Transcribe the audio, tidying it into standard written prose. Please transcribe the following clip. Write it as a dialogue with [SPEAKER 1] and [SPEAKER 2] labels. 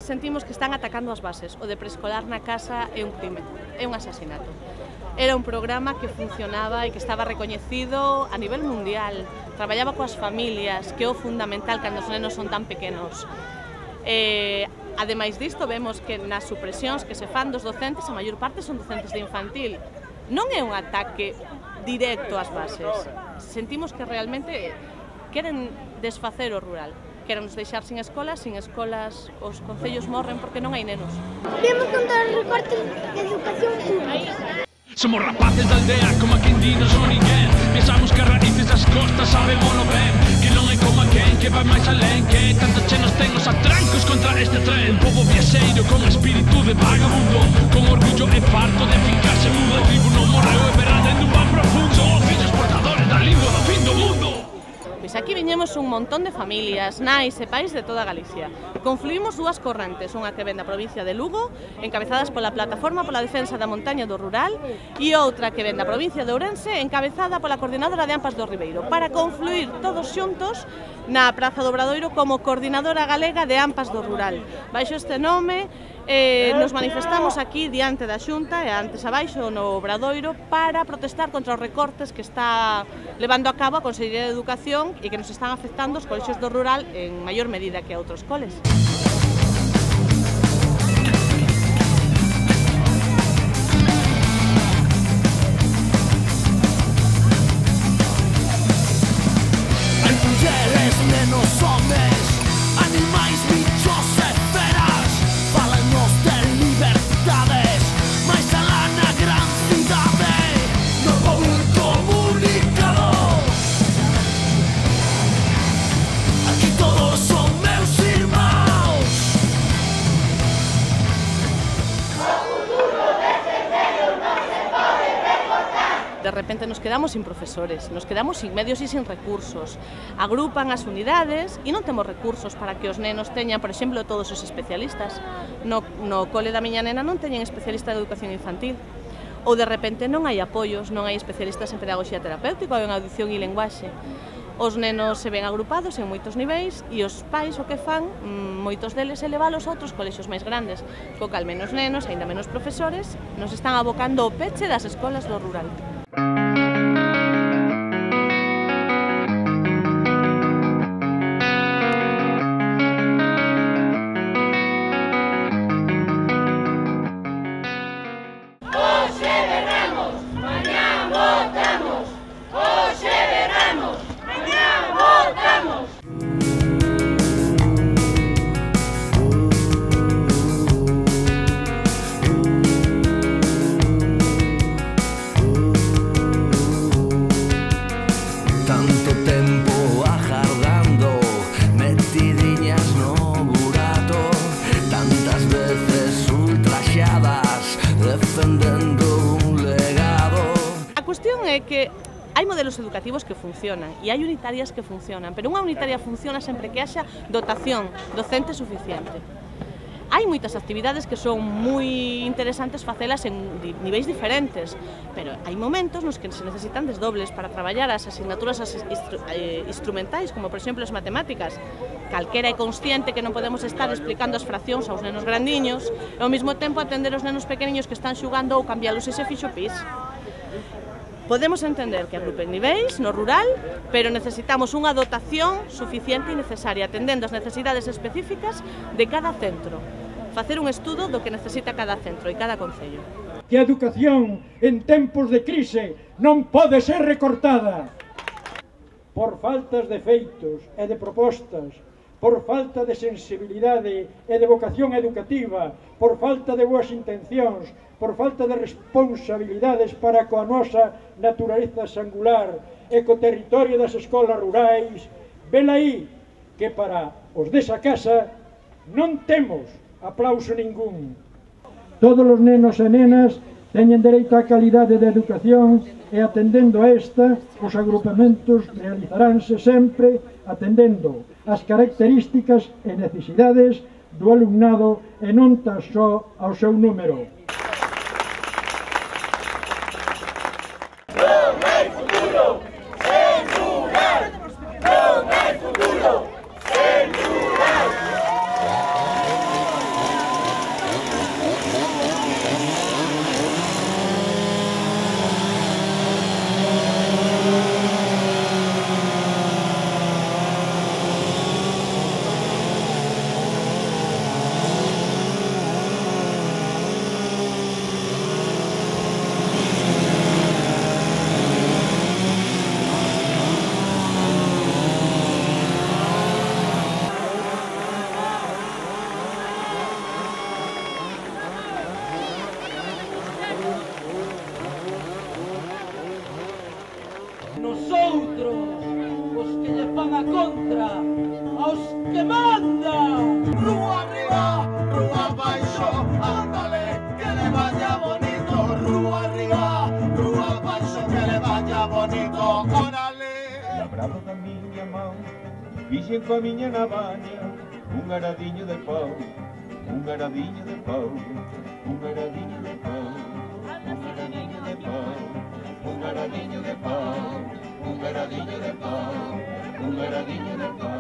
[SPEAKER 1] Sentimos que están atacando as bases. O de preescolar na casa é un crime, é un asasinato. Era un programa que funcionaba e que estaba recoñecido a nivel mundial. Traballaba coas familias, que é o fundamental cando os nenos son tan pequenos. Ademais disto, vemos que nas supresións que se fan dos docentes, a maior parte son docentes de infantil. Non é un ataque directo ás bases. Sentimos que realmente queren desfacer o rural. Querenos deixar sin escolas os concellos morren porque non hai nenos.
[SPEAKER 2] Vemos contra os recortes de educación pública.
[SPEAKER 3] Somos rapaces da aldea, como a quen di non son ninguén. Pensamos que as raíces das costas sabémonos ben, que non é como a quen que vai máis alén, que tanto che nos ten os atrancos contra este tren. Un pobo viaxeiro con espírito de vagabundo, con orgullo e farto de fincarse mudo. A tribu non morreu e verá dentro un van profundo, os fillos portadores da lingua do fin do mundo.
[SPEAKER 1] Pois aquí viñemos un montón de familias, nais e pais de toda Galicia. Confluímos dúas correntes, unha que ven da provincia de Lugo, encabezadas pola Plataforma pola Defensa da Montaña do Rural, e outra que ven da provincia de Ourense, encabezada pola Coordinadora de AMPAs do Ribeiro, para confluir todos xuntos na Praza do Obradoiro como Coordinadora Galega de AMPAs do Rural. Baixo este nome, nos manifestamos aquí diante da Xunta e antes abaixo no Obradoiro para protestar contra os recortes que está levando a cabo a Consellería de Educación e que nos están afectando os colexios do rural en maior medida que a outros coles.
[SPEAKER 3] Hai mulleres, nenos, homes, animais, bichos e feras, falanos de libertades, máis alá na gran cidade, no pobo comunicado. Aquí todos son meus irmãos.
[SPEAKER 1] De repente nos quedamos sin profesores, nos quedamos sin medios e sin recursos. Agrupan as unidades e non temos recursos para que os nenos teñan, por exemplo, todos os especialistas. No cole da miña nena non teñen especialista de educación infantil. Ou de repente non hai apoios, non hai especialistas en pedagogía terapéutica ou en audición e linguaxe. Os nenos se ven agrupados en moitos niveis e os pais o que fan, moitos deles, é leválos a outros colexios máis grandes. Co cal menos nenos, aínda menos profesores, nos están abocando o peche das escolas do rural.
[SPEAKER 3] Tanto tempo agardando, metidiñas no burato, tantas veces ultraxadas, defendendo un legado.
[SPEAKER 1] A cuestión é que hai modelos educativos que funcionan e hai unitarias que funcionan, pero unha unitaria funciona sempre que haxa dotación docente suficiente. Hai moitas actividades que son moi interesantes facelas en niveis diferentes, pero hai momentos nos que se necesitan desdobles para traballar as asignaturas instrumentais, como por exemplo as matemáticas. Calquera é consciente que non podemos estar explicando as fraccións aos nenos grandiños e ao mesmo tempo atender os nenos pequeniños que están xugando ou cambialos ese fixo pis. Podemos entender que agrupen niveis no rural, pero necesitamos unha dotación suficiente e necesaria, atendendo as necesidades específicas de cada centro. Facer un estudo do que necesita cada centro e cada concello.
[SPEAKER 4] Que a educación en tempos de crise non pode ser recortada por faltas de feitos e de propostas, por falta de sensibilidade e de vocación educativa, por falta de boas intencións, por falta de responsabilidades para coa nosa naturaleza singular e co territorio das escolas rurais. Velaí que para os desa casa non temos aplauso ningún. Todos os nenos e nenas teñen dereito á calidade de educación e atendendo a esta, os agrupamentos realizaránse sempre atendendo as características e necesidades do alumnado e non tan só ao seu número.
[SPEAKER 5] nosotros, os que lle fan a contra, aos que mandan.
[SPEAKER 6] Rúa arriba, rúa abaixo, ándale, que le vaya bonito. Rúa arriba, rúa abaixo, que le vaya bonito. Órale.
[SPEAKER 7] Labrado da miña mão, fixen coa miña navaña un aradiño de pau, un aradiño de pau, un aradiño de pau, un aradiño de pau, un aradiño de pau, un aradiño de pau, un aradiño de pau.